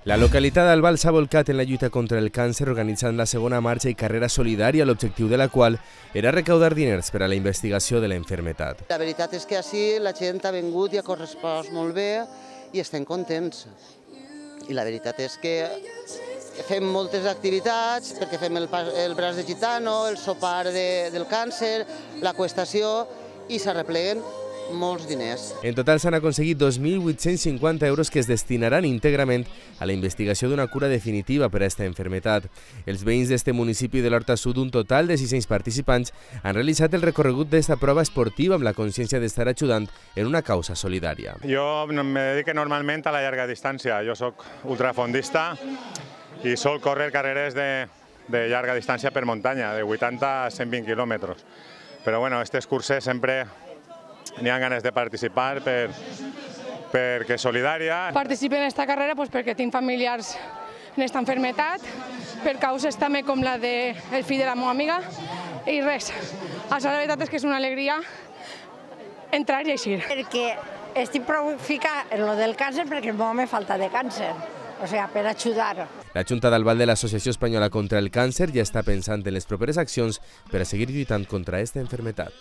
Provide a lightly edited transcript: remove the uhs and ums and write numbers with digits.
La localitat d'Albal s'ha volcat en la lluita contra el càncer organitzant la segona marxa i carrera solidària, l'objectiu de la qual era recaudar diners per a la investigació de la malaltia. La veritat és que així la gent ha vingut i ha correspost molt bé i estem contents. I la veritat és que fem moltes activitats, perquè fem el braç de gitano, el sopar del càncer, la qüestació, i s'arrepleguen molts diners. En total s'han aconseguit 2.850 euros que es destinaran íntegrament a la investigació d'una cura definitiva per a aquesta malaltia. Els veïns d'este municipi de l'Horta Sud, un total de 600 participants, han realitzat el recorregut d'esta prova esportiva amb la consciència d'estar ajudant en una causa solidària. Jo me dedico normalment a la llarga distància. Jo soc ultrafondista i sol córrer carreres de llarga distància per muntanya, de 80 a 120 quilòmetres. Però bueno, aquestes curses sempre n'hi ha ganes de participar perquè és solidària. Participo en aquesta carrera perquè tinc familiars en aquesta malaltia, per causes també com la del fill de la meva amiga, i res. La veritat és que és una alegria entrar i eixir. Perquè estic prou ficada en lo del càncer perquè el meu home falta de càncer, o sigui, per ajudar. La Junta d'Albal de l'Associació Espanyola contra el Càncer ja està pensant en les properes accions per a seguir lluitant contra aquesta malaltia.